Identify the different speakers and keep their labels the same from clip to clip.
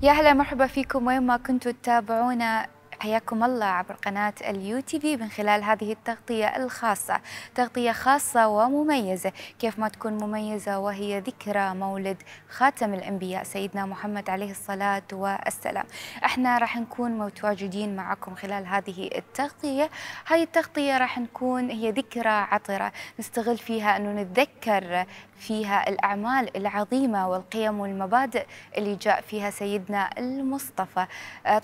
Speaker 1: يا هلا مرحبا فيكم وين ما كنتوا تتابعونا، حياكم الله عبر قناة اليو تي في من خلال هذه التغطية الخاصة، تغطية خاصة ومميزة، كيف ما تكون مميزة وهي ذكرى مولد خاتم الأنبياء سيدنا محمد عليه الصلاة والسلام. احنا راح نكون متواجدين معكم خلال هذه التغطية. هاي التغطية راح نكون هي ذكرى عطرة نستغل فيها أنه نتذكر فيها الأعمال العظيمة والقيم والمبادئ اللي جاء فيها سيدنا المصطفى.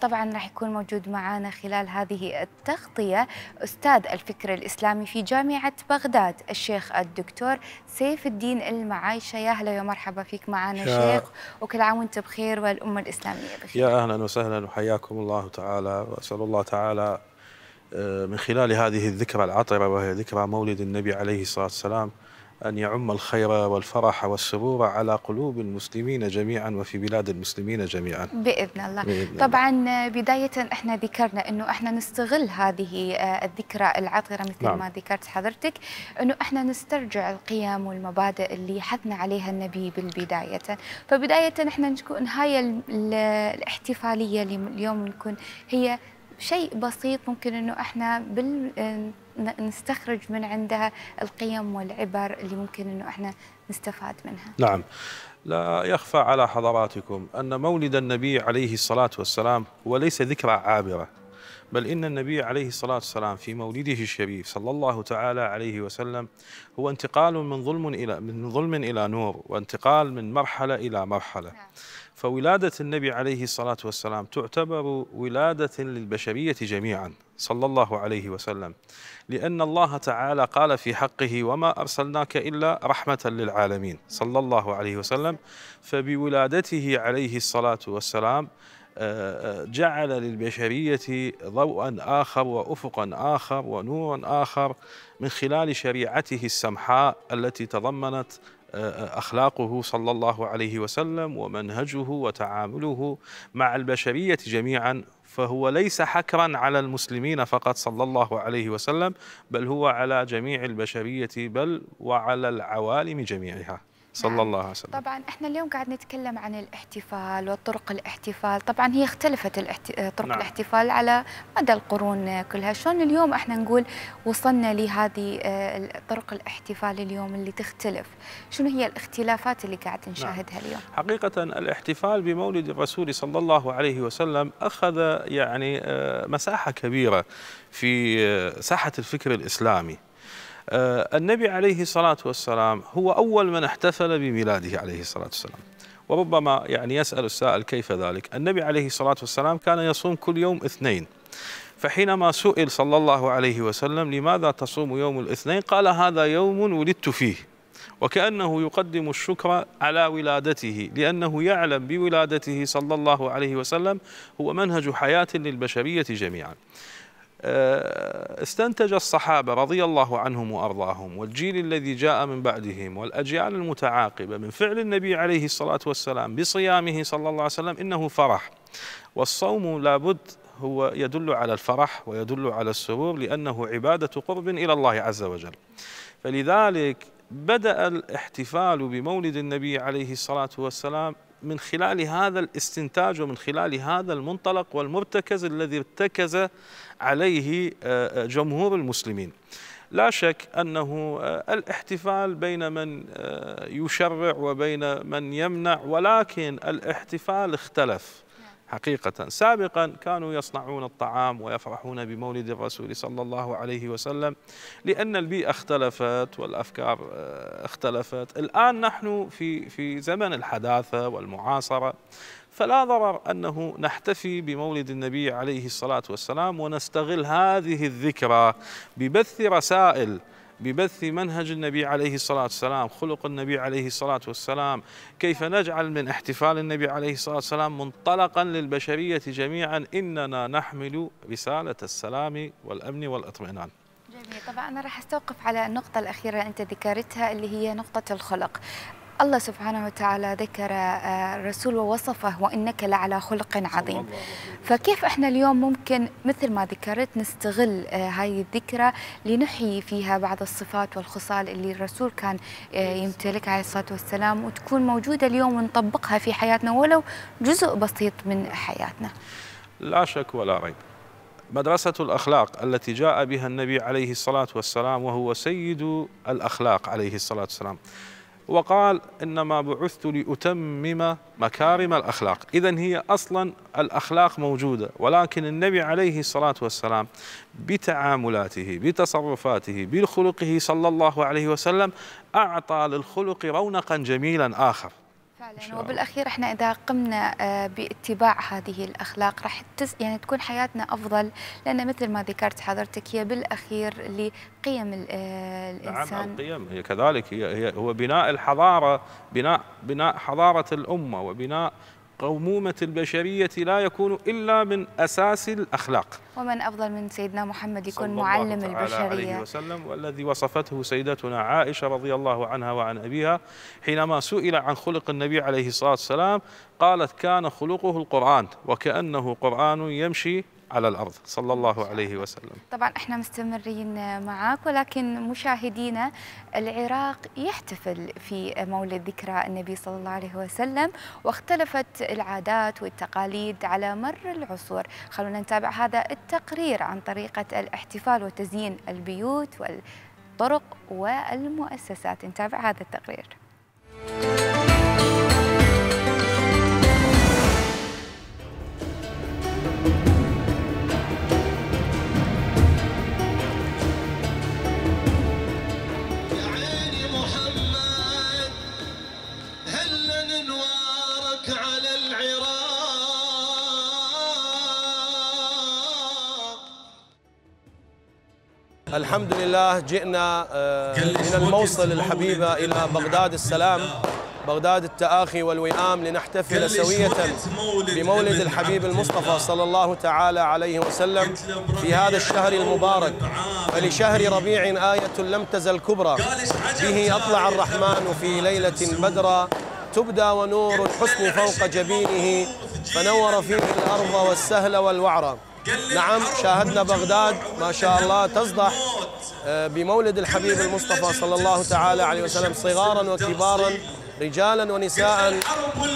Speaker 1: طبعا راح يكون موجود معنا خلال هذه التغطية أستاذ الفكر الإسلامي في جامعة بغداد الشيخ الدكتور سيف الدين المعايشة. يا هلا يا مرحبا فيك معنا شيخ، وكل عام وانت بخير والأمة الإسلامية بخير.
Speaker 2: يا أهلا وسهلا وحياكم الله تعالى، وأسأل الله تعالى من خلال هذه الذكرى العطرة وهي ذكرى مولد النبي عليه الصلاة والسلام أن يعم الخير والفرح والسرور على قلوب المسلمين جميعا وفي بلاد المسلمين جميعا
Speaker 1: بإذن الله. طبعا بداية احنا ذكرنا أنه احنا نستغل هذه الذكرى العطرة مثل ما ذكرت حضرتك، أنه احنا نسترجع القيم والمبادئ اللي حثنا عليها النبي بالبداية. فبداية احنا نكون هاي الاحتفالية اليوم نكون هي شيء بسيط ممكن أنه احنا نستخرج من عندها القيم والعبر اللي ممكن أنه احنا نستفاد منها.
Speaker 2: نعم، لا يخفى على حضراتكم أن مولد النبي عليه الصلاة والسلام هو ليس ذكرى عابرة، بل إن النبي عليه الصلاة والسلام في مولده الشريف صلى الله تعالى عليه وسلم هو انتقال من ظلم إلى نور، وانتقال من مرحلة إلى مرحلة. فولادة النبي عليه الصلاة والسلام تعتبر ولادة للبشرية جميعا صلى الله عليه وسلم، لأن الله تعالى قال في حقه: وما أرسلناك إلا رحمة للعالمين صلى الله عليه وسلم. فبولادته عليه الصلاة والسلام جعل للبشرية ضوءا آخر وأفقا آخر ونورا آخر من خلال شريعته السمحاء التي تضمنت أخلاقه صلى الله عليه وسلم ومنهجه وتعامله مع البشرية جميعا. فهو ليس حكرا على المسلمين فقط صلى الله عليه وسلم، بل هو على جميع البشرية بل وعلى العوالم جميعها صلى الله عليه وسلم.
Speaker 1: طبعا احنا اليوم قاعد نتكلم عن الاحتفال وطرق الاحتفال. طبعا هي اختلفت طرق الاحتفال على مدى القرون كلها. شلون اليوم احنا نقول وصلنا لهذه طرق الاحتفال اليوم اللي تختلف؟ شنو هي الاختلافات اللي قاعد نشاهدها اليوم؟
Speaker 2: حقيقة الاحتفال بمولد الرسول صلى الله عليه وسلم أخذ يعني مساحة كبيرة في ساحة الفكر الإسلامي. النبي عليه الصلاة والسلام هو أول من احتفل بميلاده عليه الصلاة والسلام. وربما يعني يسأل السائل كيف ذلك؟ النبي عليه الصلاة والسلام كان يصوم كل يوم اثنين، فحينما سئل صلى الله عليه وسلم: لماذا تصوم يوم الاثنين؟ قال: هذا يوم ولدت فيه. وكأنه يقدم الشكر على ولادته، لأنه يعلم بولادته صلى الله عليه وسلم هو منهج حياة للبشرية جميعا. استنتج الصحابة رضي الله عنهم وأرضاهم والجيل الذي جاء من بعدهم والأجيال المتعاقبة من فعل النبي عليه الصلاة والسلام بصيامه صلى الله عليه وسلم إنه فرح، والصوم لابد هو يدل على الفرح ويدل على السرور، لأنه عبادة قرب إلى الله عز وجل. فلذلك بدأ الاحتفال بمولد النبي عليه الصلاة والسلام من خلال هذا الاستنتاج ومن خلال هذا المنطلق والمرتكز الذي ارتكز عليه جمهور المسلمين. لا شك أنه الاحتفال بين من يشرع وبين من يمنع، ولكن الاحتفال اختلف حقيقة. سابقا كانوا يصنعون الطعام ويفرحون بمولد الرسول صلى الله عليه وسلم لأن البيئة اختلفت والأفكار اختلفت. الآن نحن في زمن الحداثة والمعاصرة، فلا ضرر أنه نحتفي بمولد النبي عليه الصلاة والسلام ونستغل هذه الذكرى ببث رسائل، ببث منهج النبي عليه الصلاة والسلام، خلق النبي عليه الصلاة والسلام، كيف نجعل من احتفال النبي عليه الصلاة والسلام منطلقا للبشرية جميعا. إننا نحمل رسالة السلام والأمن والاطمئنان.
Speaker 1: جميل. طبعا أنا راح أستوقف على النقطة الأخيرة أنت ذكرتها اللي هي نقطة الخلق. الله سبحانه وتعالى ذكر الرسول ووصفه وإنك لعلى خلق عظيم. فكيف احنا اليوم ممكن مثل ما ذكرت نستغل هاي الذكرى لنحيي فيها بعض الصفات والخصال اللي الرسول كان يمتلكها عليه الصلاة والسلام، وتكون موجودة اليوم ونطبقها في حياتنا ولو جزء بسيط من حياتنا؟
Speaker 2: لا شك ولا ريب، مدرسة الأخلاق التي جاء بها النبي عليه الصلاة والسلام وهو سيد الأخلاق عليه الصلاة والسلام، وقال إنما بعثت لأتمم مكارم الأخلاق. إذن هي أصلا الأخلاق موجودة، ولكن النبي عليه الصلاة والسلام بتعاملاته بتصرفاته بخلقه صلى الله عليه وسلم أعطى للخلق رونقا جميلا آخر.
Speaker 1: فعلا، وبالأخير احنا إذا قمنا باتباع هذه الأخلاق راح يعني تكون حياتنا أفضل، لأن مثل ما ذكرت حضرتك هي بالأخير لقيم الإنسان.
Speaker 2: نعم، القيم هي كذلك، هو بناء الحضارة، بناء حضارة الأمة وبناء قومومة البشرية لا يكون إلا من أساس الأخلاق.
Speaker 1: ومن أفضل من سيدنا محمد يكون معلم البشرية
Speaker 2: صلى الله عليه وسلم، والذي وصفته سيدتنا عائشة رضي الله عنها وعن أبيها حينما سئل عن خلق النبي عليه الصلاة والسلام قالت كان خلقه القرآن وكأنه قرآن يمشي على الأرض صلى الله عليه وسلم.
Speaker 1: طبعا احنا مستمرين معك، ولكن مشاهدينا العراق يحتفل في مولد ذكرى النبي صلى الله عليه وسلم، واختلفت العادات والتقاليد على مر العصور. خلونا نتابع هذا التقرير عن طريقة الاحتفال وتزيين البيوت والطرق والمؤسسات. نتابع هذا التقرير.
Speaker 3: الحمد لله جئنا من الموصل الحبيبة إلى بغداد السلام، بغداد التآخي والوئام، لنحتفل سوية بمولد الحبيب المصطفى صلى الله تعالى عليه وسلم في هذا الشهر المبارك. فلشهر ربيع آية لم تزل كبرى، به أطلع الرحمن في ليلة بدرا، تبدى ونور الحسن فوق جبينه، فنور فيه الأرض والسهل والوعرى. نعم، شاهدنا بغداد ما شاء الله تصدح بمولد الحبيب المصطفى صلى الله تعالى عليه وسلم، صغارا وكبارا رجالا ونساء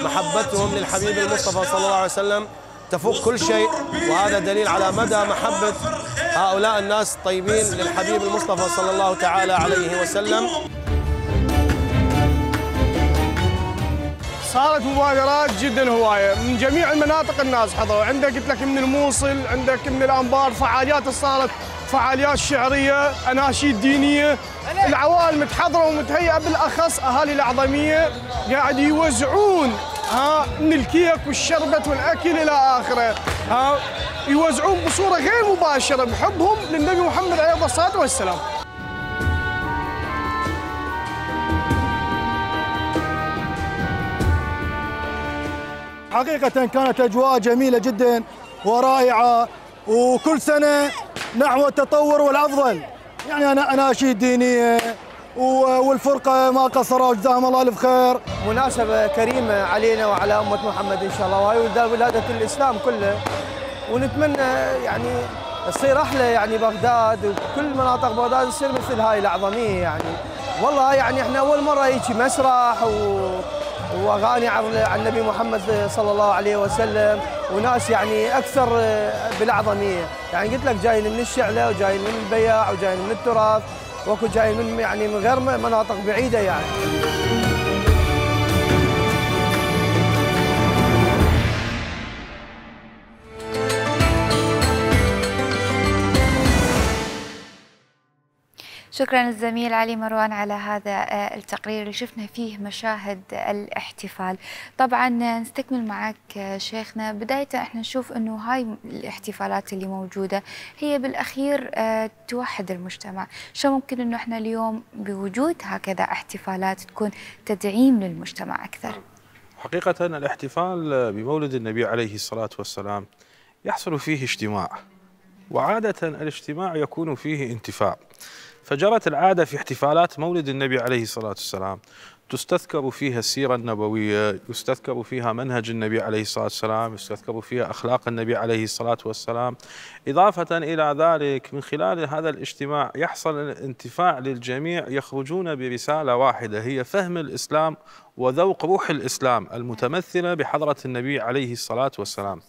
Speaker 3: محبتهم للحبيب المصطفى صلى الله عليه وسلم تفوق كل شيء، وهذا دليل على مدى محبة هؤلاء الناس الطيبين للحبيب المصطفى صلى الله تعالى عليه وسلم.
Speaker 4: صارت مبادرات جدا هوايه من جميع المناطق، الناس حضروا. عندك قلت لك من الموصل، عندك من الانبار، فعاليات صارت، فعاليات شعريه، اناشيد دينيه، العوائل متحضره ومتهيئه، بالاخص اهالي الأعظمية قاعد يوزعون من الكيك والشربت والاكل الى اخره، يوزعون بصوره غير مباشره بحبهم للنبي محمد عليه الصلاه والسلام.
Speaker 5: حقيقة كانت أجواء جميلة جدا ورائعة، وكل سنة نحو التطور والأفضل. يعني أنا أناشيد دينية والفرقة ما قصروا، جزاهم الله ألف خير.
Speaker 6: مناسبة كريمة علينا وعلى أمة محمد إن شاء الله، وهي ولادة الإسلام كله، ونتمنى يعني تصير أحلى يعني بغداد وكل مناطق بغداد تصير مثل هاي الأعظمية. يعني والله يعني إحنا أول مرة يجي مسرح واغاني عن النبي محمد صلى الله عليه وسلم، وناس يعني اكثر بالاعظميه. يعني قلت لك جايين من الشعله وجايين من البياع وجايين من التراث، وكل جايين من يعني من غير مناطق بعيده يعني.
Speaker 1: شكرا للزميل علي مروان على هذا التقرير اللي شفنا فيه مشاهد الاحتفال. طبعا نستكمل معك شيخنا. بداية احنا نشوف انه هاي الاحتفالات اللي موجودة هي بالاخير توحد المجتمع، شو ممكن انه احنا اليوم بوجود هكذا احتفالات تكون تدعيم للمجتمع اكثر؟
Speaker 2: حقيقة الاحتفال بمولد النبي عليه الصلاة والسلام يحصل فيه اجتماع، وعادة الاجتماع يكون فيه انتفاع. فجرت العادة في احتفالات مولد النبي عليه الصلاة والسلام تستذكر فيها السيرة النبوية، يستذكر فيها منهج النبي عليه الصلاة والسلام، يستذكر فيها أخلاق النبي عليه الصلاة والسلام. إضافة إلى ذلك من خلال هذا الاجتماع يحصل الانتفاع للجميع، يخرجون برسالة واحدة هي فهم الإسلام وذوق روح الإسلام المتمثلة بحضرة النبي عليه الصلاة والسلام.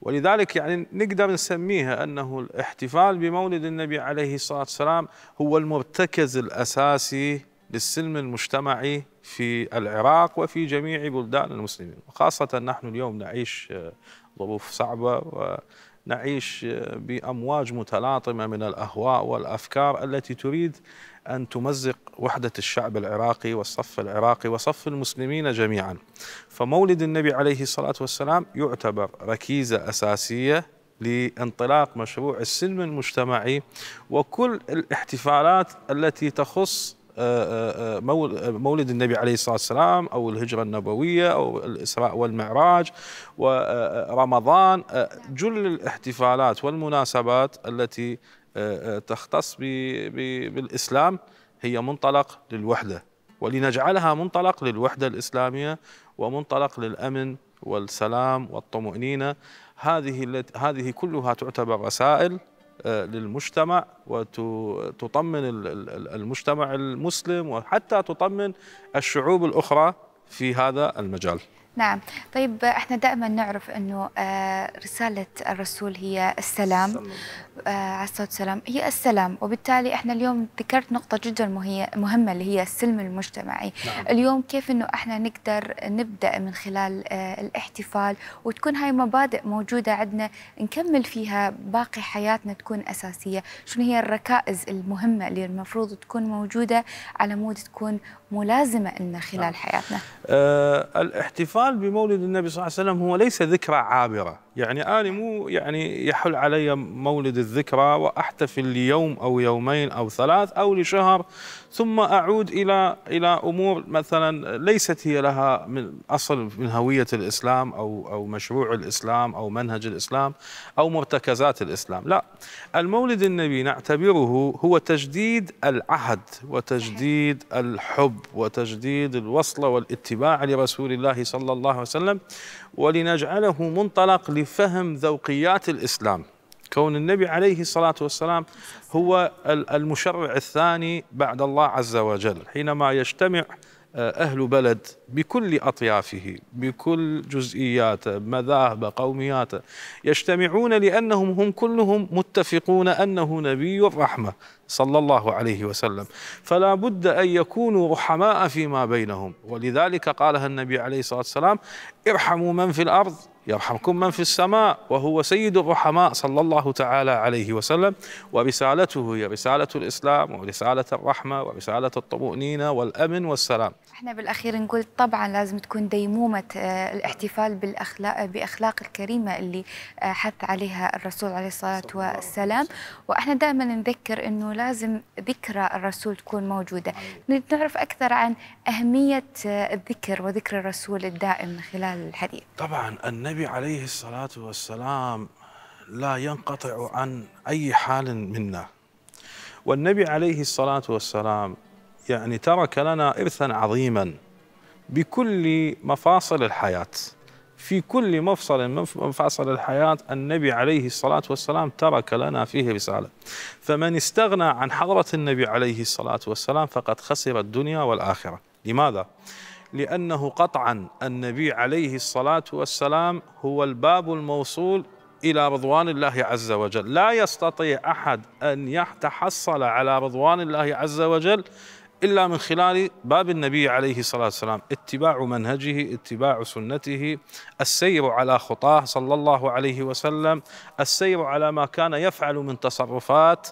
Speaker 2: ولذلك يعني نقدر نسميها أنه الاحتفال بمولد النبي عليه الصلاة والسلام هو المرتكز الأساسي للسلم المجتمعي في العراق وفي جميع بلدان المسلمين، وخاصة نحن اليوم نعيش ظروف صعبة ونعيش بأمواج متلاطمة من الأهواء والأفكار التي تريد أن تمزق وحدة الشعب العراقي والصف العراقي وصف المسلمين جميعا. فمولد النبي عليه الصلاة والسلام يعتبر ركيزة أساسية لانطلاق مشروع السلم المجتمعي، وكل الاحتفالات التي تخص مولد النبي عليه الصلاة والسلام أو الهجرة النبوية أو الإسراء والمعراج ورمضان، جل الاحتفالات والمناسبات التي تختص بالإسلام هي منطلق للوحدة، ولنجعلها منطلق للوحدة الإسلامية ومنطلق للأمن والسلام والطمأنينة. هذه كلها تعتبر رسائل للمجتمع وتطمن المجتمع المسلم وحتى تطمن الشعوب الأخرى في هذا المجال.
Speaker 1: نعم. طيب احنا دائما نعرف انه رسالة الرسول هي السلام عليه الصلاة والسلام، هي السلام، وبالتالي احنا اليوم ذكرت نقطة جدا مهمة اللي هي السلم المجتمعي. نعم. اليوم كيف انه احنا نقدر نبدأ من خلال الاحتفال وتكون هاي مبادئ موجودة عندنا نكمل فيها باقي حياتنا، تكون أساسية. شنو هي الركائز المهمة اللي المفروض تكون موجودة على مود تكون ملازمة لنا خلال حياتنا؟
Speaker 2: الاحتفال بمولد النبي صلى الله عليه وسلم هو ليس ذكرى عابرة، يعني أنا مو يعني يحل علي مولد الذكرى وأحتفل ليوم أو يومين أو ثلاث أو لشهر ثم أعود إلى أمور مثلا ليست هي لها من أصل من هوية الإسلام أو مشروع الإسلام أو منهج الإسلام أو مرتكزات الإسلام. لا، المولد النبي نعتبره هو تجديد العهد وتجديد الحب وتجديد الوصلة والاتباع لرسول الله صلى الله عليه وسلم، ولنجعله منطلق لفهم ذوقيات الإسلام. كون النبي عليه الصلاة والسلام هو المشرع الثاني بعد الله عز وجل، حينما يجتمع أهل بلد بكل أطيافه بكل جزئياته مذاهبه قومياته، يجتمعون لأنهم هم كلهم متفقون أنه نبي الرحمة صلى الله عليه وسلم، فلا بد أن يكونوا رحماء فيما بينهم. ولذلك قالها النبي عليه الصلاة والسلام: ارحموا من في الأرض يرحمكم من في السماء، وهو سيد الرحماء صلى الله تعالى عليه وسلم. ورسالته هي رسالة الإسلام ورسالة الرحمة ورسالة الطمأنينة والأمن والسلام.
Speaker 1: احنا بالأخير نقول طبعا لازم تكون ديمومة الاحتفال بأخلاق الكريمة اللي حث عليها الرسول عليه الصلاة والسلام، واحنا دائما نذكر انه لازم ذكرى الرسول تكون موجودة. نعرف أكثر عن أهمية الذكر وذكر الرسول الدائم من خلال الحديث.
Speaker 2: طبعا النبي عليه الصلاة والسلام لا ينقطع عن أي حال منا، والنبي عليه الصلاة والسلام يعني ترك لنا إرثا عظيما بكل مفاصل الحياة. في كل مفصل من مفاصل الحياة النبي عليه الصلاة والسلام ترك لنا فيه رسالة. فمن استغنى عن حضرة النبي عليه الصلاة والسلام فقد خسر الدنيا والآخرة. لماذا؟ لأنه قطعا النبي عليه الصلاة والسلام هو الباب الموصول إلى رضوان الله عز وجل. لا يستطيع أحد أن يتحصل على رضوان الله عز وجل إلا من خلال باب النبي عليه الصلاة والسلام، اتباع منهجه، اتباع سنته، السير على خطاه صلى الله عليه وسلم، السير على ما كان يفعل من تصرفات.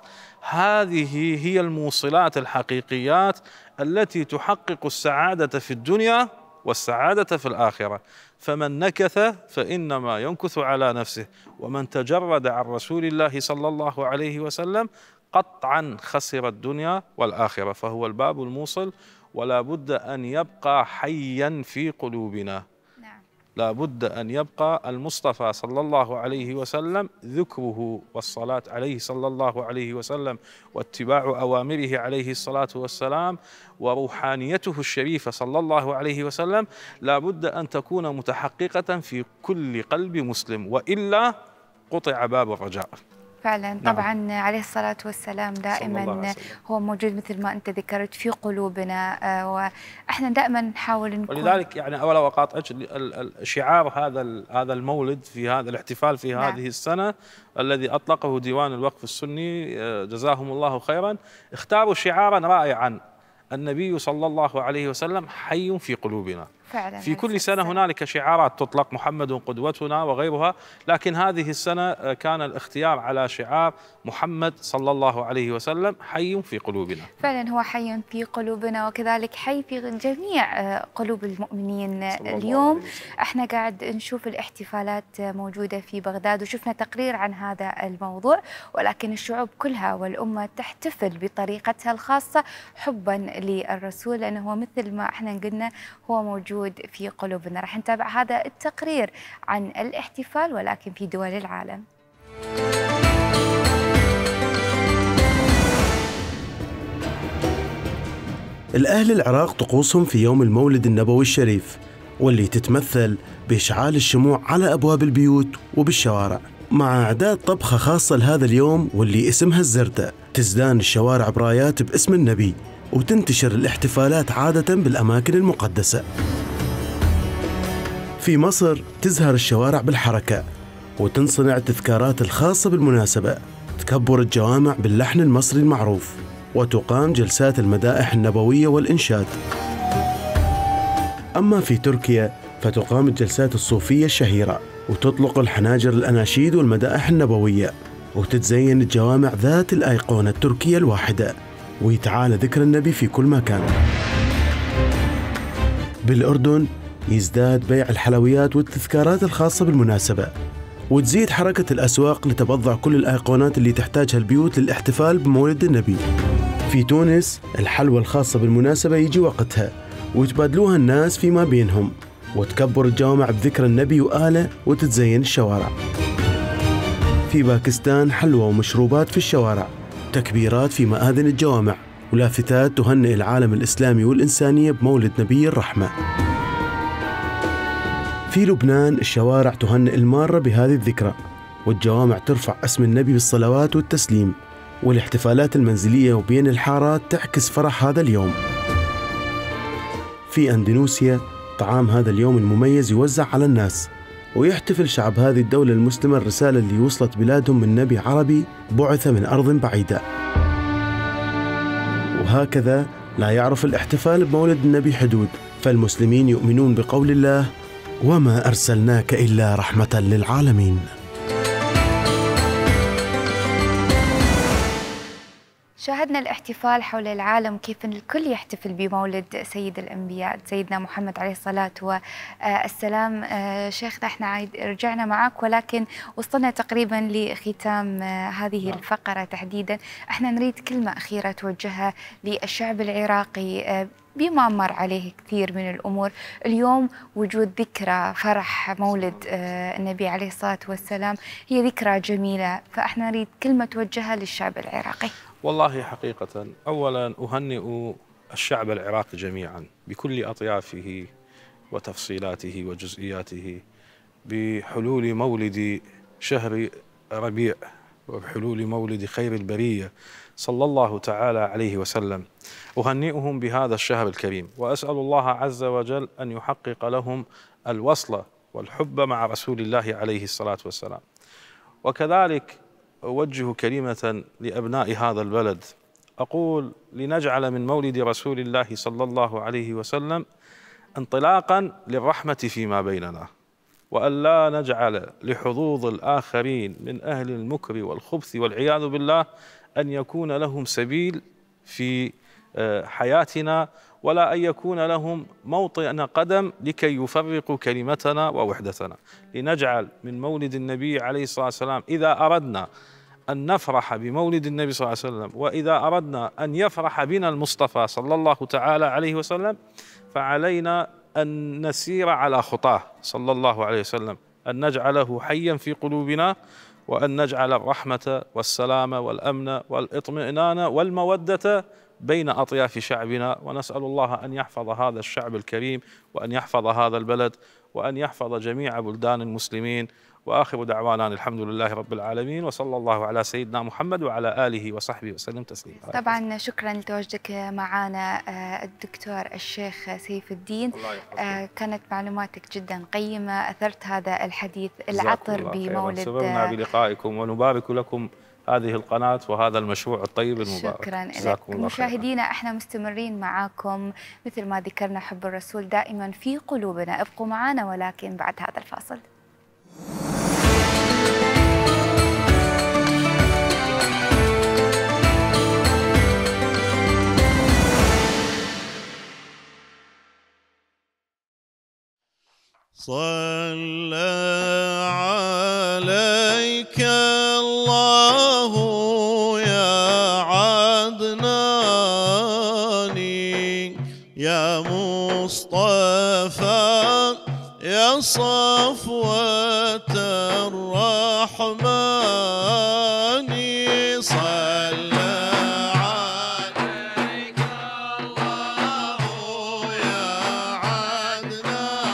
Speaker 2: هذه هي الموصلات الحقيقيات التي تحقق السعادة في الدنيا والسعادة في الآخرة. فمن نكث فإنما ينكث على نفسه، ومن تجرد عن رسول الله صلى الله عليه وسلم قطعا خسر الدنيا والآخرة. فهو الباب الموصل ولا بد أن يبقى حيا في قلوبنا.
Speaker 1: نعم.
Speaker 2: لا بد أن يبقى المصطفى صلى الله عليه وسلم ذكره والصلاة عليه صلى الله عليه وسلم واتباع أوامره عليه الصلاة والسلام وروحانيته الشريفة صلى الله عليه وسلم لا بد أن تكون متحققة في كل قلب مسلم، وإلا قطع باب الرجاء.
Speaker 1: فعلا طبعا عليه الصلاة والسلام دائما هو موجود مثل ما أنت ذكرت في قلوبنا، وإحنا دائما نحاول نكون، ولذلك
Speaker 2: يعني أولا أقاطعك، شعار هذا المولد في هذا الاحتفال في هذه السنة الذي أطلقه ديوان الوقف السني جزاهم الله خيرا، اختاروا شعارا رائعا: النبي صلى الله عليه وسلم حي في قلوبنا.
Speaker 1: فعلا
Speaker 2: في كل سنة هنالك شعارات تطلق: محمد قدوتنا وغيرها، لكن هذه السنة كان الاختيار على شعار محمد صلى الله عليه وسلم حي في قلوبنا.
Speaker 1: فعلا هو حي في قلوبنا، وكذلك حي في جميع قلوب المؤمنين. اليوم احنا قاعد نشوف الاحتفالات موجودة في بغداد، وشفنا تقرير عن هذا الموضوع، ولكن الشعوب كلها والأمة تحتفل بطريقتها الخاصة حبا للرسول، لأنه هو مثل ما احنا قلنا هو موجود في قلوبنا. راح نتابع هذا التقرير عن الاحتفال ولكن في دول العالم.
Speaker 7: الأهل العراق طقوسهم في يوم المولد النبوي الشريف، واللي تتمثل بإشعال الشموع على أبواب البيوت وبالشوارع، مع إعداد طبخة خاصة لهذا اليوم واللي اسمها الزردة. تزدان الشوارع برايات باسم النبي، وتنتشر الاحتفالات عادة بالأماكن المقدسة. في مصر تزهر الشوارع بالحركة، وتنصنع تذكارات الخاصة بالمناسبة، تكبر الجوامع باللحن المصري المعروف، وتقام جلسات المدائح النبوية والإنشاد. أما في تركيا فتقام الجلسات الصوفية الشهيرة، وتطلق الحناجر الأناشيد والمدائح النبوية، وتتزين الجوامع ذات الأيقونة التركية الواحدة، ويتعالى ذكر النبي في كل مكان. بالأردن يزداد بيع الحلويات والتذكارات الخاصة بالمناسبة، وتزيد حركة الأسواق لتبضع كل الأيقونات اللي تحتاجها البيوت للاحتفال بمولد النبي. في تونس الحلوى الخاصة بالمناسبة يجي وقتها، ويتبادلوها الناس فيما بينهم، وتكبر الجوامع بذكر النبي وآله، وتتزين الشوارع. في باكستان حلوى ومشروبات في الشوارع، تكبيرات في مآذن الجوامع، ولافتات تهنئ العالم الإسلامي والإنسانية بمولد نبي الرحمة. في لبنان الشوارع تهنئ المارة بهذه الذكرى، والجوامع ترفع اسم النبي بالصلوات والتسليم، والاحتفالات المنزلية وبين الحارات تعكس فرح هذا اليوم. في أندونيسيا طعام هذا اليوم المميز يوزع على الناس، ويحتفل شعب هذه الدولة المسلمة الرسالة اللي وصلت بلادهم من نبي عربي بعث من أرض بعيدة. وهكذا لا يعرف الاحتفال بمولد النبي حدود، فالمسلمين يؤمنون بقول الله: وما أرسلناك إلا رحمة للعالمين.
Speaker 1: شاهدنا الاحتفال حول العالم كيف الكل يحتفل بمولد سيد الأنبياء سيدنا محمد عليه الصلاة والسلام. شيخنا احنا رجعنا معك، ولكن وصلنا تقريبا لختام هذه الفقرة تحديدا. احنا نريد كلمة أخيرة توجهها للشعب العراقي بما مر عليه كثير من الأمور. اليوم وجود ذكرى فرح مولد النبي عليه الصلاة والسلام هي ذكرى جميلة، فاحنا نريد كلمة توجهها للشعب العراقي.
Speaker 2: والله حقيقة أولا أهنئ الشعب العراقي جميعا بكل أطيافه وتفصيلاته وجزئياته بحلول مولد شهر ربيع، وبحلول مولد خير البرية صلى الله تعالى عليه وسلم. أهنئهم بهذا الشهر الكريم، وأسأل الله عز وجل أن يحقق لهم الوصلة والحب مع رسول الله عليه الصلاة والسلام. وكذلك أوجه كلمة لأبناء هذا البلد، أقول: لنجعل من مولد رسول الله صلى الله عليه وسلم انطلاقا للرحمة فيما بيننا، وأن لا نجعل لحظوظ الآخرين من أهل المكر والخبث والعياذ بالله أن يكون لهم سبيل في حياتنا، ولا أن يكون لهم موطئ قدم لكي يفرقوا كلمتنا ووحدتنا. لنجعل من مولد النبي عليه الصلاة والسلام، إذا أردنا أن نفرح بمولد النبي صلى الله عليه وسلم، وإذا أردنا أن يفرح بنا المصطفى صلى الله تعالى عليه وسلم، فعلينا أن نسير على خطاه صلى الله عليه وسلم، أن نجعله حيا في قلوبنا، وأن نجعل الرحمة والسلام والأمن والإطمئنان والمودة بين أطياف شعبنا. ونسأل الله أن يحفظ هذا الشعب الكريم، وأن يحفظ هذا البلد، وأن يحفظ جميع بلدان المسلمين. وآخر دعوانا الحمد لله رب العالمين، وصلى الله على سيدنا محمد وعلى آله وصحبه وسلم تسليما.
Speaker 1: طبعا شكرا لتواجدك معنا الدكتور الشيخ سيف الدين، كانت معلوماتك جدا قيمة، أثرت هذا الحديث العطر بمولد.
Speaker 2: سررنا بلقائكم ونبارك لكم هذه القناة وهذا المشروع الطيب المبارك.
Speaker 1: شكرا لك. مشاهدينا احنا مستمرين معاكم مثل ما ذكرنا، حب الرسول دائما في قلوبنا، ابقوا معنا ولكن بعد هذا الفاصل.
Speaker 8: صلى عليك الله يا عدناني، يا مصطفى يا صفوة الرحمن. صلى عليك الله يا عدناني،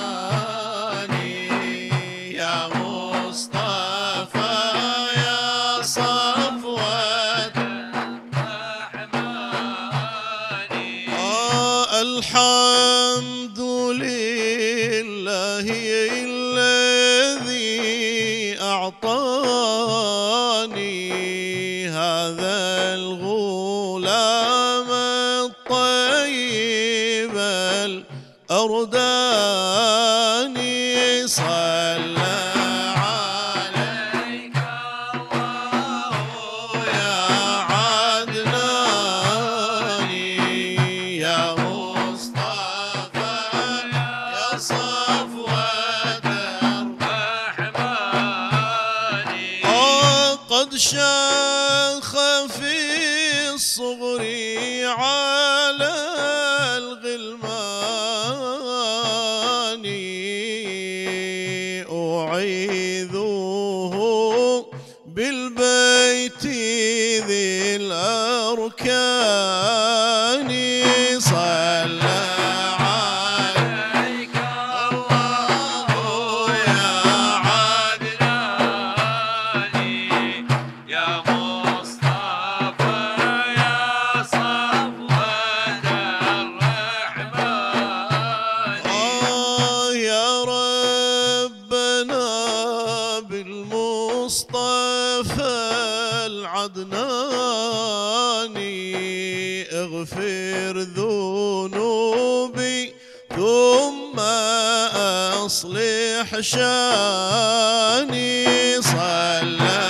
Speaker 8: يا مصطفى يا صفوة الرحمن. الحمد لله الذي أعطاني هذا الغلام الطيب الأرداني. صلى عليك الله يا عدناني، يا مصطفى يا صفوة الرحمن. قد شاخ في الصغر على الغلمان، أعيذه بالبيت ذي الأركان. صلى عليك الله يا عدناني، يا مصطفى يا صفوة الرحمن. يا ربنا بالمصطفى العدناني، اغفر ذنوبي ثم أصلح شاني. صلى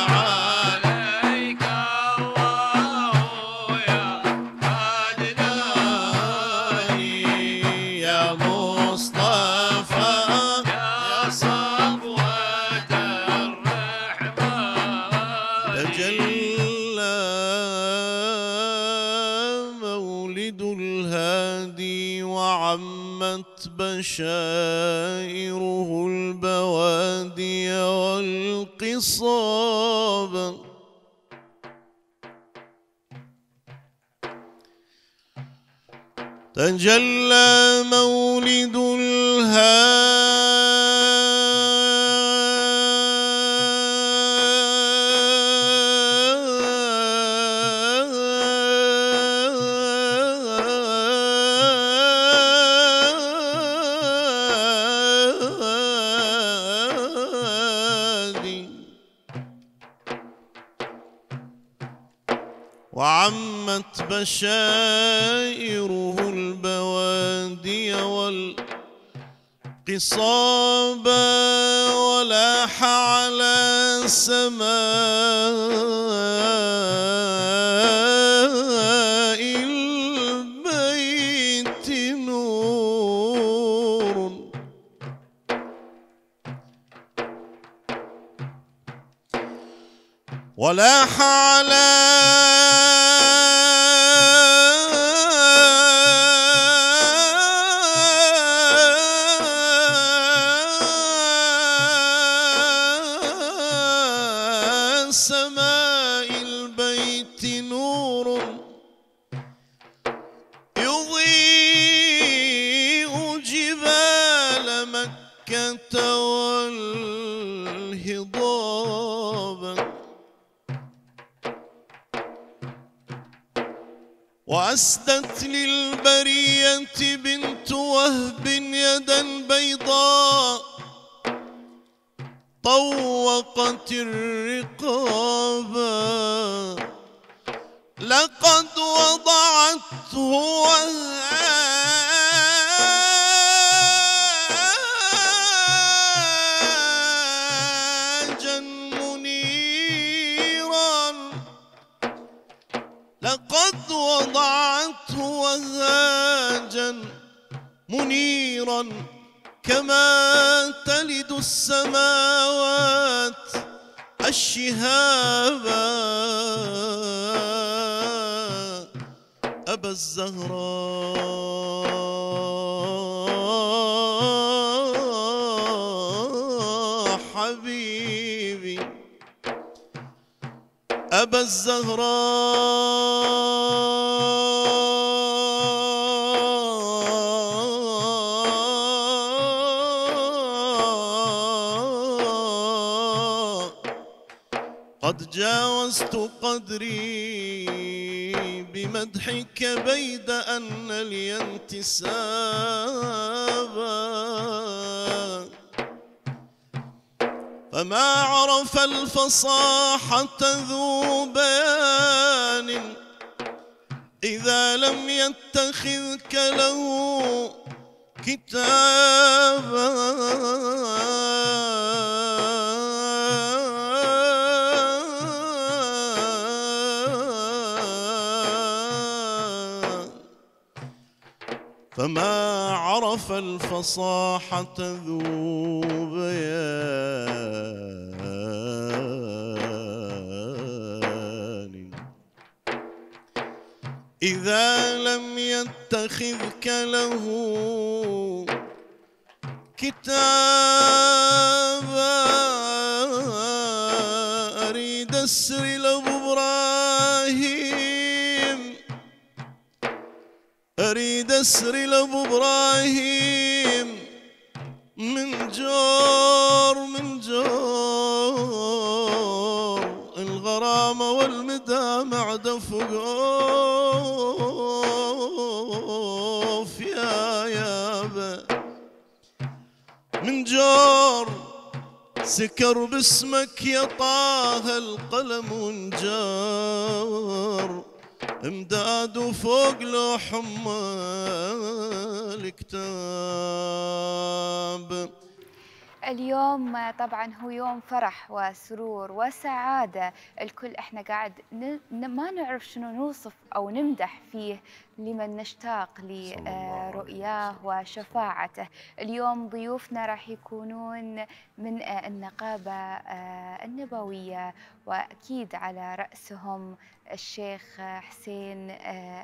Speaker 8: عليك الله يا عدناني، يا مصطفى يا صفوة الرحمن. تجلى مولد الهادي وعمت بشائره البوادي والقصاب. تجلى مولد وعمت بشائره البوادي والقصاب، ولاح على سماء البيت نور. ولاح على وأسدت للبرية بنت وهب يدا بيضاء طوقت الرقابا لقد وضعته وهاجا منيرا لقد وضعته وهاجا منيرا كما تلد السماوات الشهابا أبا الزهراء حبيبي أبا الزهراء قد جاوزت قدري بمدحك بيد أن لي انتسابا فما عرف الفصاحة ذو بيان إذا لم يتخذك له كتابا فما عرف الفصاحة ذو بيان إذا لم يتخذك له كتابا أريد أسري لأبو إبراهيم أريد أسري لأبو إبراهيم من جور الغرامة والمدامع دفقوف يا يابا من جور سكر باسمك يا طه القلم ونجار امداد وفوق لوح الكتاب.
Speaker 1: اليوم طبعا هو يوم فرح وسرور وسعادة، الكل احنا قاعد ما نعرف شنو نوصف او نمدح فيه لمن نشتاق لرؤياه وشفاعته. اليوم ضيوفنا راح يكونون من النقابة النبوية، واكيد على رأسهم الشيخ حسين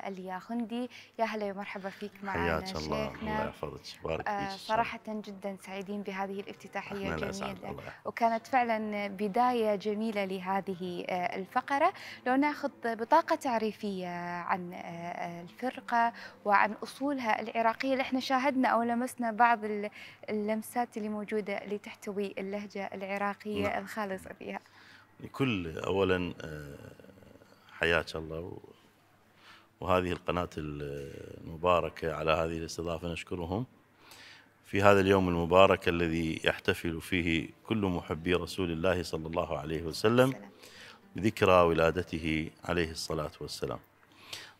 Speaker 1: الياخندي. يا هلا ومرحبا فيك معنا شيخنا.
Speaker 9: الله يحفظك، بارك فيك.
Speaker 1: صراحة جدا سعيدين بهذه الافتتاحية الجميلة، وكانت فعلا بداية جميلة لهذه الفقرة. لو ناخذ بطاقة تعريفية عن الفرقة وعن أصولها العراقية اللي احنا شاهدنا أو لمسنا بعض اللمسات اللي موجودة اللي تحتوي اللهجة العراقية الخالصة فيها.
Speaker 9: لكل أولا حياك الله وهذه القناة المباركة على هذه الاستضافة، نشكرهم في هذا اليوم المبارك الذي يحتفل فيه كل محبي رسول الله صلى الله عليه وسلم بذكرى ولادته عليه الصلاة والسلام.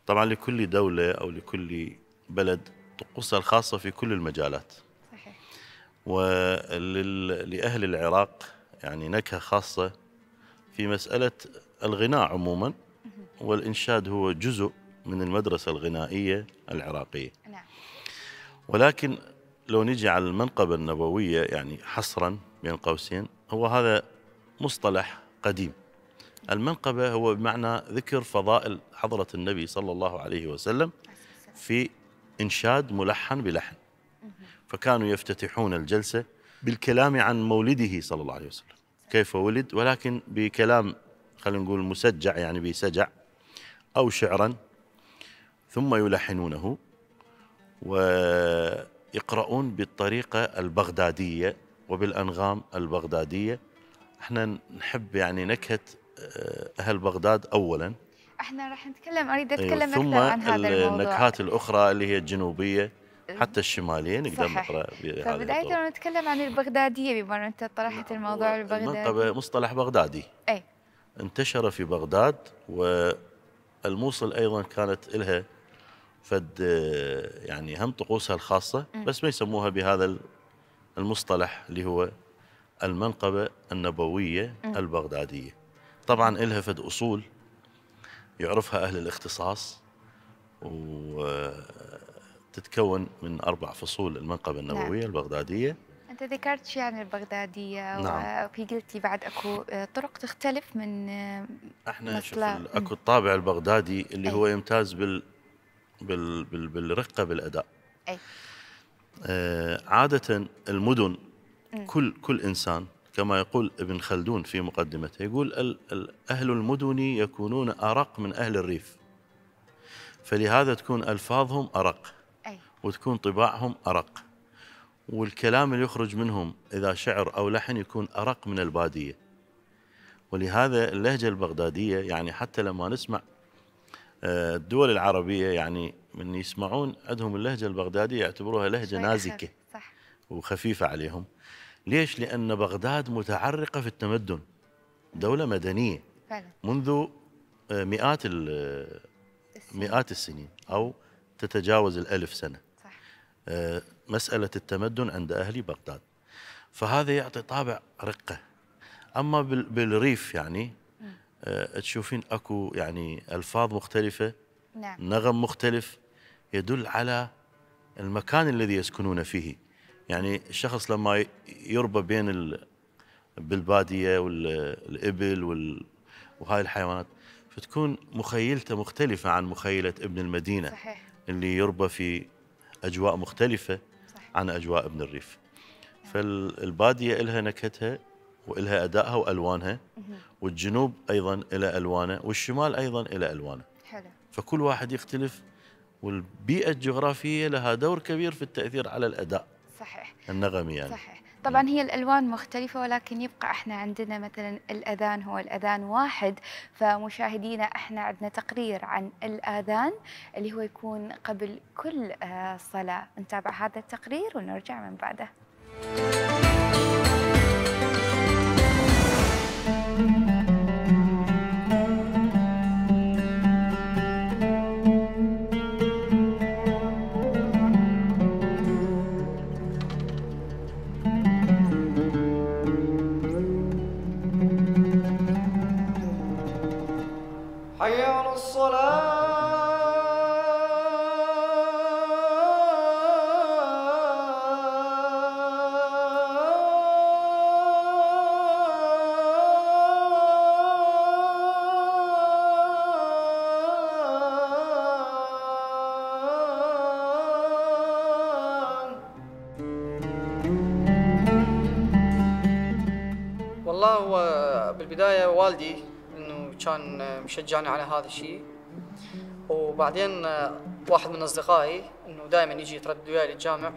Speaker 9: طبعا لكل دولة أو لكل بلد طقوسها الخاصة في كل المجالات. صحيح. ولأهل العراق يعني نكهة خاصة في مسألة الغناء عموما، والإنشاد هو جزء من المدرسة الغنائية العراقية. نعم. ولكن لو نجي على المنقبة النبوية يعني حصرا بين قوسين، هو هذا مصطلح قديم. المنقبة هو بمعنى ذكر فضائل حضرة النبي صلى الله عليه وسلم في إنشاد ملحن بلحن، فكانوا يفتتحون الجلسة بالكلام عن مولده صلى الله عليه وسلم، كيف ولد، ولكن بكلام خلينا نقول مسجع يعني بسجع أو شعرا، ثم يلحنونه ويقرؤون بالطريقة البغدادية وبالأنغام البغدادية. احنا نحب يعني نكهة أهل بغداد أولا،
Speaker 1: احنا راح نتكلم، اريد اتكلم
Speaker 9: ثم
Speaker 1: اكثر عن هذا الموضوع.
Speaker 9: النكهات الاخرى اللي هي الجنوبيه حتى الشماليه نقدر نقرا بهذا.
Speaker 1: فبداية نتكلم عن البغداديه، بما ان انت طرحت الموضوع البغدادي.
Speaker 9: المنقبه مصطلح بغدادي
Speaker 1: اي
Speaker 9: انتشر في بغداد، والموصل ايضا كانت لها فد يعني هم طقوسها الخاصه، بس ما يسموها بهذا المصطلح اللي هو المنقبه النبويه البغداديه. طبعا لها فد اصول يعرفها اهل الاختصاص، وتتكون من 4 فصول المنقبه النبويه البغداديه.
Speaker 1: انت ذكرت شيء عن البغداديه،
Speaker 9: نعم.
Speaker 1: وفي قلت لي بعد اكو طرق تختلف من
Speaker 9: احنا شوف اكو الطابع البغدادي اللي هو يمتاز بالرقه بالاداء.
Speaker 1: اي
Speaker 9: عاده المدن كل انسان كما يقول ابن خلدون في مقدمته، يقول اهل المدن يكونون ارق من اهل الريف، فلهذا تكون الفاظهم ارق وتكون طباعهم ارق، والكلام اللي يخرج منهم اذا شعر او لحن يكون ارق من الباديه. ولهذا اللهجه البغداديه يعني حتى لما نسمع الدول العربيه يعني من يسمعون عندهم اللهجه البغداديه يعتبروها لهجه نازكه
Speaker 1: صح
Speaker 9: وخفيفه عليهم. ليش؟ لان بغداد متعرقه في التمدن، دوله مدنيه
Speaker 1: فعلا
Speaker 9: منذ مئات السنين او تتجاوز 1000 سنه.
Speaker 1: صح.
Speaker 9: مساله التمدن عند اهل بغداد، فهذا يعطي طابع رقه. اما بالريف يعني تشوفين اكو يعني الفاظ مختلفه،
Speaker 1: نعم.
Speaker 9: نغم مختلف يدل على المكان الذي يسكنون فيه. يعني الشخص لما يربى بين بالباديه والابل وهاي الحيوانات، فتكون مخيلته مختلفه عن مخيله ابن المدينه.
Speaker 1: صحيح.
Speaker 9: اللي يربى في اجواء مختلفه.
Speaker 1: صحيح.
Speaker 9: عن اجواء ابن الريف. فالباديه لها نكهتها والها ادائها والوانها، والجنوب ايضا الى الوانه، والشمال ايضا الى الوانه.
Speaker 1: حلو.
Speaker 9: فكل واحد يختلف، والبيئه الجغرافيه لها دور كبير في التاثير على الاداء.
Speaker 1: صحيح.
Speaker 9: النغمي يعني.
Speaker 1: صحيح. طبعا هي الالوان مختلفه، ولكن يبقى احنا عندنا مثلا الاذان هو الاذان واحد. فمشاهدينا احنا عندنا تقرير عن الاذان اللي هو يكون قبل كل صلاه. نتابع هذا التقرير ونرجع من بعده.
Speaker 10: حي على الصلاة. والله هو بالبداية والدي كان مشجعني على هذا الشيء، وبعدين واحد من اصدقائي انه دائما يجي يتردد وياي للجامع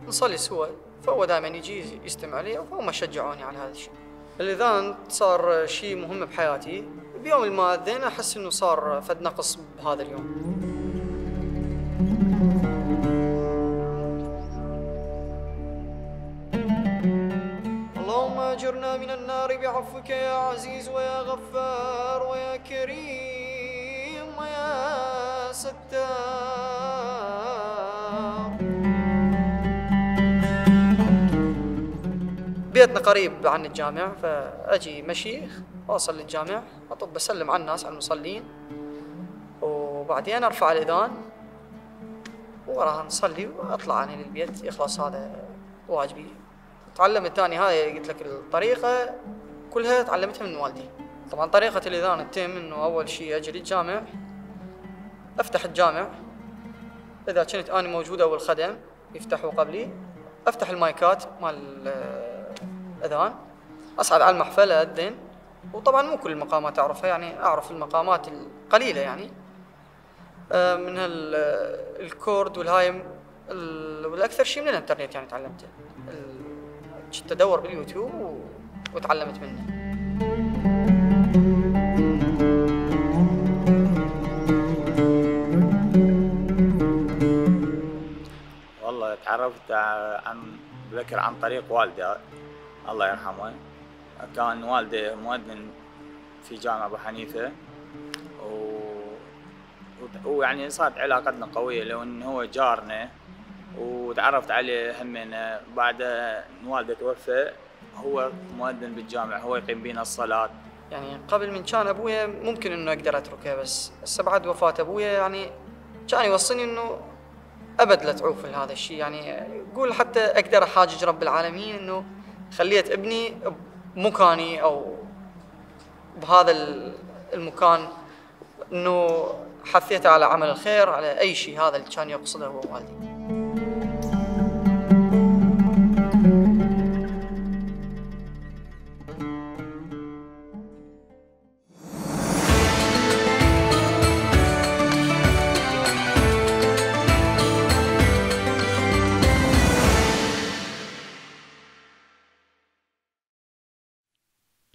Speaker 10: نصلي سوا، فهو دائما يجي يستمع لي وهم شجعوني على هذا الشيء. الاذان صار شيء مهم بحياتي، بيوم ما اذن احس انه صار فد نقص بهذا اليوم. اللهم اجرنا من النار بعفوك يا عزيز ويا غفار ويا كريم ويا ستار. بيتنا قريب عن الجامع، فاجي مشي واصل للجامع اطب بسلم على الناس على المصلين، وبعدين ارفع الاذان وراها نصلي واطلع انا للبيت. يخلص هذا واجبي. تعلمت ثاني هاي قلت لك الطريقة كلها تعلمتها من والدي. طبعا طريقة الإذان تتم إنه أول شيء أجي للجامع، أفتح الجامع، إذا كنت أنا موجودة أو الخدم يفتحوا قبلي، أفتح المايكات مال الأذان، أصعد على المحفل أذن. وطبعا مو كل المقامات أعرفها، يعني أعرف المقامات القليلة يعني من الكورد والهايم، والأكثر شيء من الإنترنت يعني تعلمته. كنت ادور باليوتيوب وتعلمت منه.
Speaker 11: عرفت عن بكر عن طريق والدي الله يرحمه. كان والدي مؤذن في جامع أبو حنيفة، ويعني صارت علاقتنا قوية لو إنه هو جارنا، وتعرفت عليه همنا بعد إن والده توفى. هو مؤذن بالجامع، هو يقيم بينا الصلاة.
Speaker 10: يعني قبل من كان أبويا ممكن إنه أقدر أتركه، بس هسه بعد وفاة أبويا يعني كان يوصيني إنه أبد لا تعوف هذا الشيء. يعني يقول حتى أقدر أحاجج رب العالمين إنه خليت ابني بمكاني أو بهذا المكان، إنه حثيته على عمل الخير، على أي شيء. هذا اللي كان يقصده هو والدي.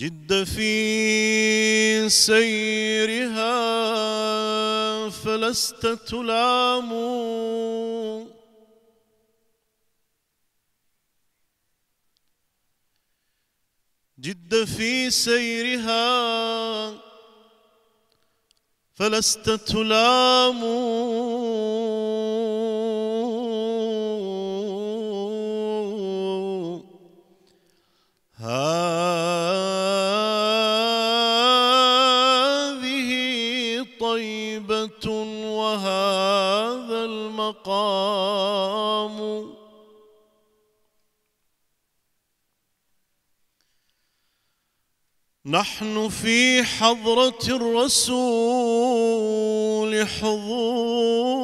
Speaker 8: جد في سيرها فلست تلام، جد في سيرها فلست تلام، وهذا المقام. نحن في حضرة الرسول حضور،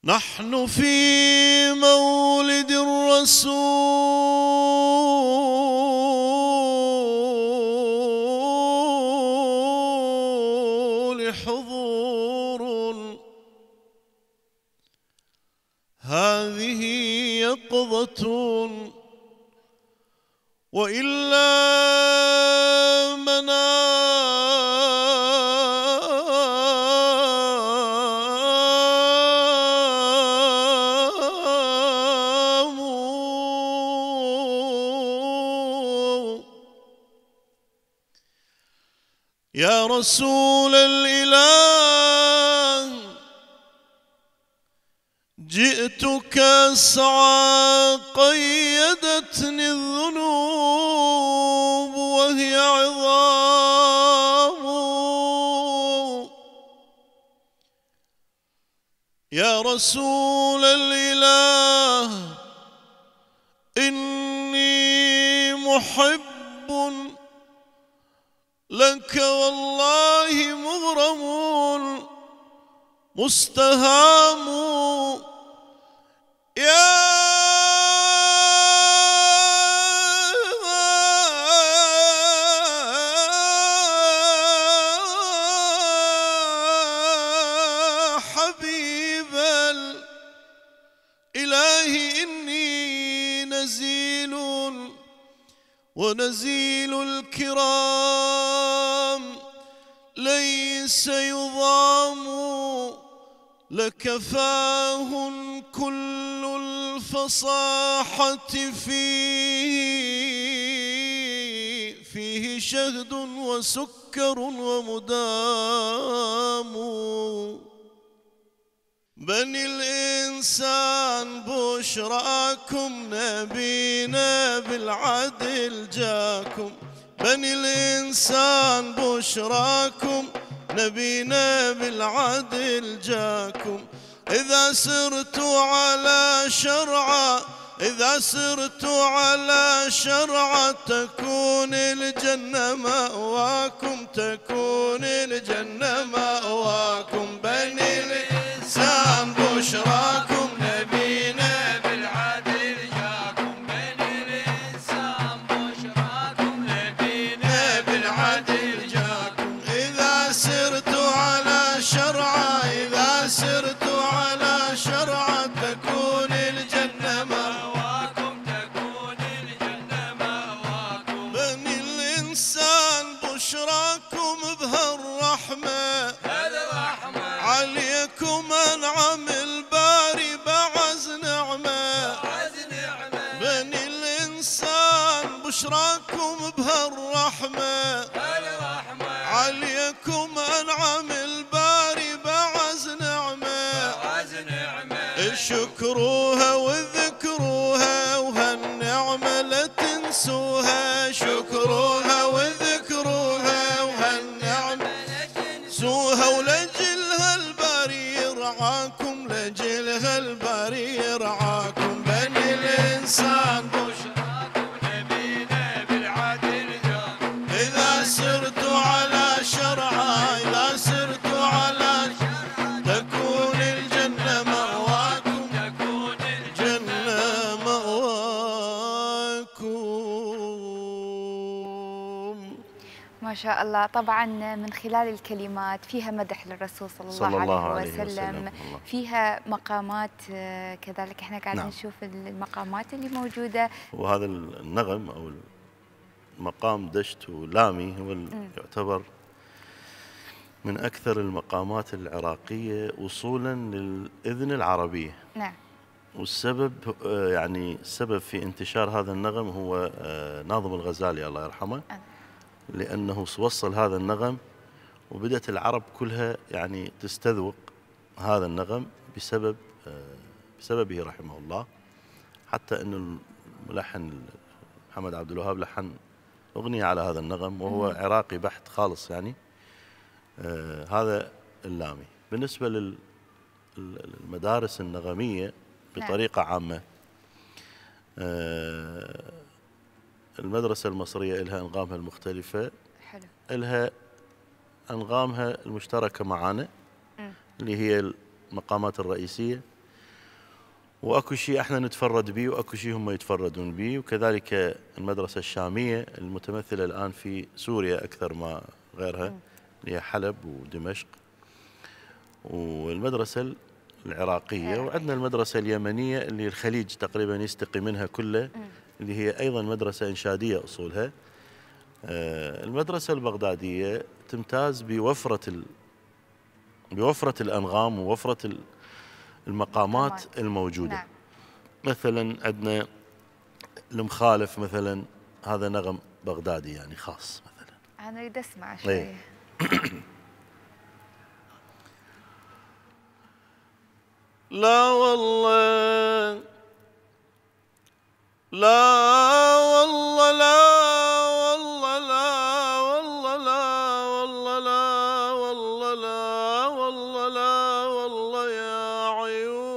Speaker 8: نحن في مولد الرسول حضور، هذه يقظة وإلا منام. يا رسول الإله جئتك أسعى، قيدتني الذنوب وهي عظام. يا رسول الإله إني محب لك والله مغرم مستهام. يا حبيب الإله إني نزيل ونزيل الكرام ليس يضام. لكفاه كل الفصاحة فيه شهد وسكر ومدام. بني الإنسان بشراكم نبينا بالعدل جاكم. بني الإنسان بشراكم نبينا بالعدل جاكم. إذا سرتوا على شرعه، إذا سرتوا على شرعه تكون الجنة مأواكم، تكون الجنة مأواكم. بني الإنسان بشراكم نبينا بالعدل جاكم. بني الإنسان بشراكم نبينا بالعدل جاكم. إذا سرتوا على شرعه، إذا سرتوا على شرعه تكون الجنة مأواكم، تكون الجنة مأواكم. بني الإنسان بشراكم بهالرحمة، هذا رحمة بشراكم بهالرحمة عليكم أنعم الباري بعز نعمة شكروها وذكروها وهالنعمة لا تنسوها شكروها وذكروها وهالنعمة لا تنسوها ولجلها الباري يرعاكم لجلها الباري يرعاكم بني الإنسان بشراكم نبينا بالعدل جاكم إذا سرتوا على شرعه إذا سرتوا على شرعه تكون الجنة مأواكم تكون الجنة مأواكم.
Speaker 1: ما شاء الله. طبعا من خلال الكلمات فيها مدح للرسول صلى الله عليه وسلم، فيها مقامات كذلك احنا قاعدين نشوف المقامات اللي موجودة.
Speaker 9: وهذا النغم أو مقام دشت ولامي هو يعتبر من أكثر المقامات العراقية وصولا للإذن العربية.
Speaker 1: نعم.
Speaker 9: والسبب يعني السبب في انتشار هذا النغم هو ناظم الغزالي الله يرحمه، لأنه وصل هذا النغم وبدأت العرب كلها يعني تستذوق هذا النغم بسببه رحمه الله، حتى أن الملحن محمد عبد الوهاب لحن أغنية على هذا النغم وهو عراقي بحت خالص يعني. هذا اللامي. بالنسبة للمدارس النغمية بطريقة عامة، المدرسة المصرية لها أنغامها المختلفة.
Speaker 1: حلو.
Speaker 9: لها أنغامها المشتركة معنا اللي هي المقامات الرئيسية، وأكو شيء احنا نتفرد به وأكو شيء هم يتفردون به. وكذلك المدرسة الشامية المتمثلة الآن في سوريا أكثر ما غيرها اللي هي حلب ودمشق، والمدرسة العراقية، وعندنا المدرسة اليمنية اللي الخليج تقريبا يستقي منها كله اللي هي أيضا مدرسة إنشادية أصولها. المدرسة البغدادية تمتاز بوفرة الأنغام ووفرة المقامات الموجودة.
Speaker 1: نعم.
Speaker 9: مثلا عندنا المخالف مثلا، هذا نغم بغدادي يعني خاص مثلا.
Speaker 1: أنا أريد أسمع شوي.
Speaker 8: لا والله لا والله لا والله لا والله لا والله لا والله لا والله لا والله يا عيوني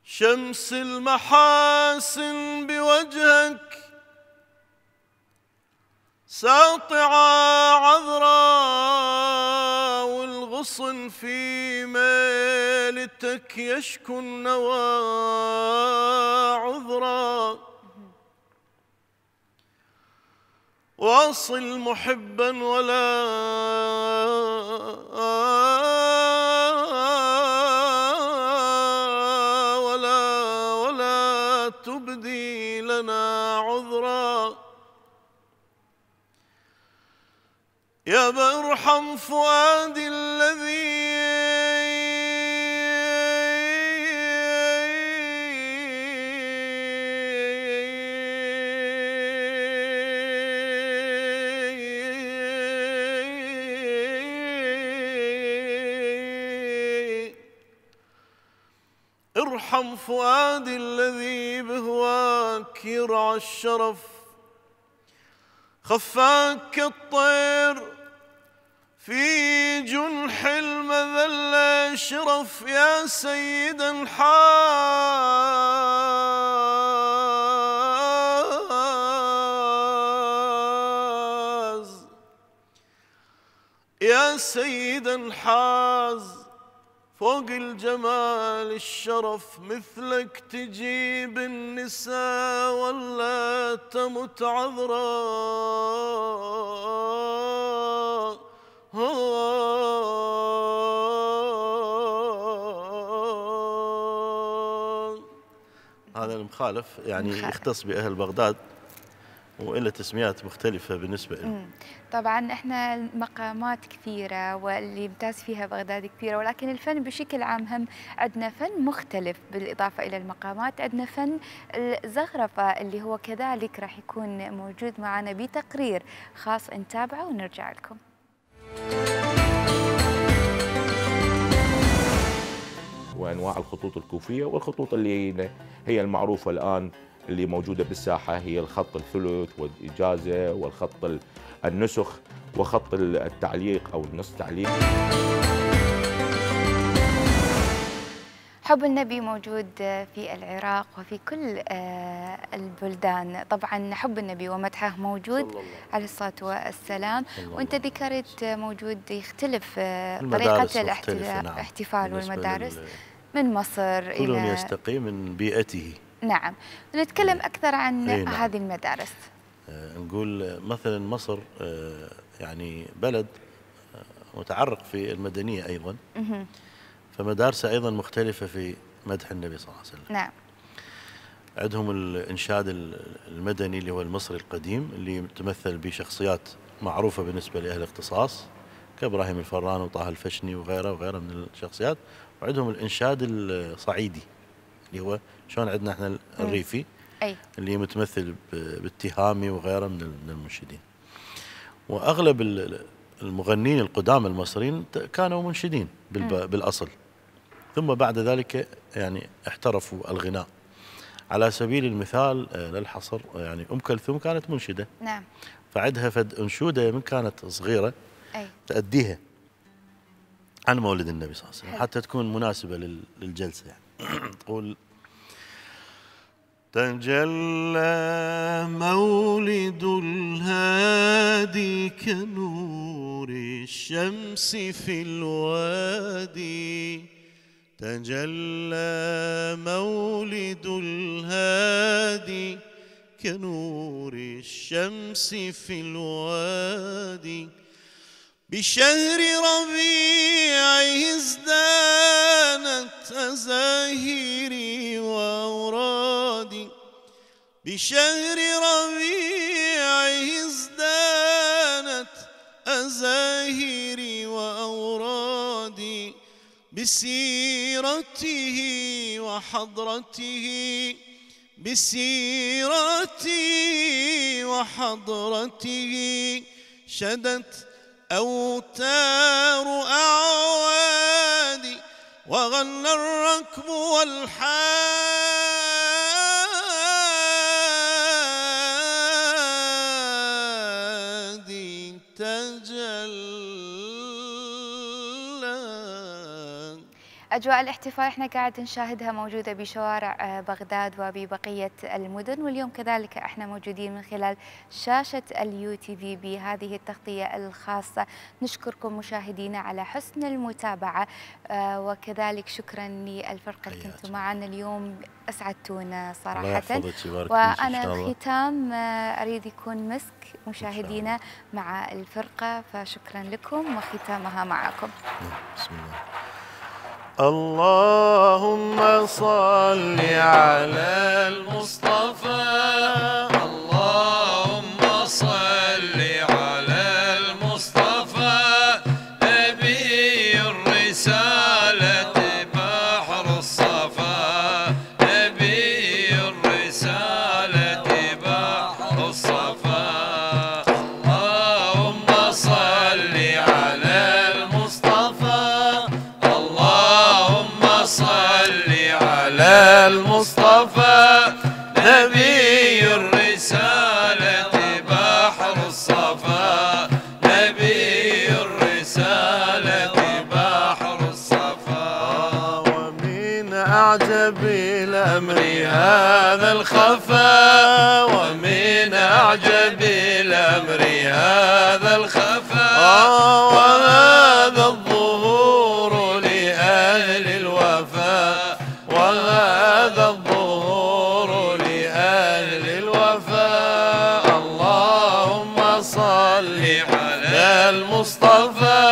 Speaker 8: شمس المحاسن بوجهك ساطعة عذراء والغصن في ميلتك يشكو النوى عذرا واصل محبا ولا تبدي لنا عذرا يا برحم فؤادي الذي ارحم فؤادي الذي بهواك يرعى الشرف خفاك كالطير في جنح المذلة شرف يا سيدا حاز يا سيدا حاز فوق الجمال الشرف مثلك تجيب النساء ولا تمت عذراء
Speaker 9: هذا المخالف يعني يختص بأهل بغداد وإلى تسميات مختلفة بالنسبة له.
Speaker 1: طبعا احنا المقامات كثيرة واللي يمتاز فيها بغداد كثيرة، ولكن الفن بشكل عام هم عندنا فن مختلف. بالإضافة إلى المقامات عندنا فن الزخرفة اللي هو كذلك راح يكون موجود معنا بتقرير خاص، نتابعه ونرجع لكم.
Speaker 12: وأنواع الخطوط الكوفية، والخطوط اللي هي المعروفة الآن اللي موجودة بالساحة هي الخط الثلث والإجازة والخط النسخ وخط التعليق أو النص تعليق.
Speaker 1: حب النبي موجود في العراق وفي كل البلدان. طبعا حب النبي ومدحه موجود عليه الصلاة والسلام، وانت ذكرت موجود يختلف طريقة الاحتفال والمدارس من مصر
Speaker 9: كل
Speaker 1: إلى
Speaker 9: يستقي من بيئته.
Speaker 1: نعم، نتكلم أكثر عن نعم. هذه المدارس.
Speaker 9: نقول مثلا مصر يعني بلد متعرق في المدنية أيضا، فمدارسه أيضا مختلفة في مدح النبي صلى الله عليه وسلم.
Speaker 1: نعم.
Speaker 9: عندهم الإنشاد المدني اللي هو المصري القديم اللي يتمثل بشخصيات معروفة بالنسبة لأهل الاختصاص كإبراهيم الفران وطه الفشني وغيره من الشخصيات، وعندهم الإنشاد الصعيدي اللي هو شلون عندنا احنا الريفي اللي متمثل بالتهامي وغيره من المنشدين. وأغلب المغنين القدامى المصريين كانوا منشدين بالأصل، ثم بعد ذلك يعني احترفوا الغناء. على سبيل المثال للحصر يعني أم كلثوم كانت منشدة.
Speaker 1: نعم.
Speaker 9: فعندها فد أنشودة من كانت صغيرة تأديها عن مولد النبي صلى الله عليه وسلم حتى تكون مناسبة للجلسة يعني. تقول: تجلى مولد الهادي كنور الشمس في الوادي، تجلى مولد الهادي كنور الشمس في الوادي، بشهر ربيعه ازدانت أزاهيري وأورادي، بشهر ربيعه ازدانت أزاهيري وأورادي، بسيرته وحضرته، بسيرته وحضرته شدت أوتار أعوادي، وغنى الركب والحادي تجلى.
Speaker 1: أجواء الاحتفال احنا قاعد نشاهدها موجودة بشوارع بغداد وببقية المدن، واليوم كذلك احنا موجودين من خلال شاشة الUTV بهذه التغطية الخاصة. نشكركم مشاهدينا على حسن المتابعة، وكذلك شكرا للفرقة اللي كنتوا معنا اليوم، أسعدتونا صراحة. وأنا ختام أريد يكون مسك مشاهدينا مع الفرقة، فشكرا لكم وختامها معكم.
Speaker 9: بسم الله. اللهم صل على المصطفى، اللهم صل على المصطفى، نبي الرسالة بحر الصفا، نبي الرسالة بحر الصفا، اللهم صل على المصطفى، صل على المصطفى، نبي الرسالة بحر الصفا، نبي الرسالة بحر الصفا. ومن أعجب الأمر هذا الخفا، ومن أعجب الأمر هذا الخفا، وهذا الظهور لأهل الوفاء، وهذا الظهور لأهل الوفاء. اللهم صل على المصطفى،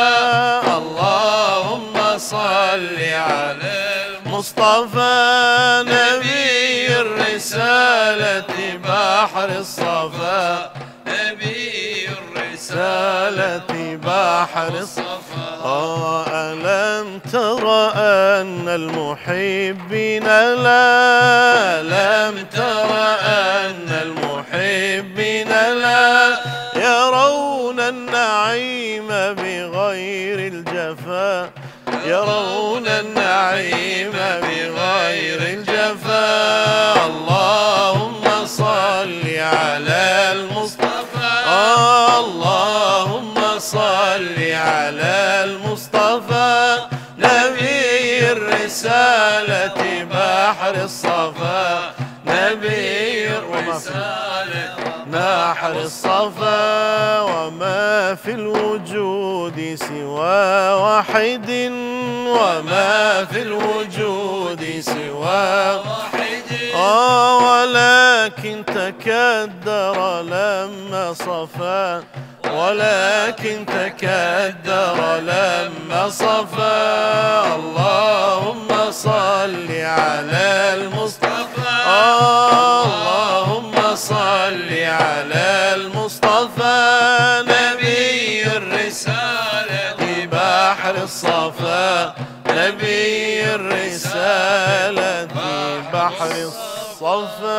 Speaker 9: اللهم صل على المصطفى، نبي
Speaker 8: الرسالة بحر الصفا، نبي الرسالة بحر الصفا. ألم تر أن المحبين لا، لم تر أن المحبين لا يرون النعيم بغير الجفا، يرون النعيم بغير الجفا. اللهم صل على المصطفى، اللهم صل على المصطفى، نبي الرسالة بحر الصفا، نبي الرسالة بحر الصفا. وما في الوجود سوى واحد، وما في الوجود سوى واحد، ولكن تكدر لما صفا، ولكن تكدر لما صفا. اللهم صل على المصطفى، اللهم صل على المصطفى، نبي الرسالة بحر الصفا، نبي الرسالة بحر الصفا.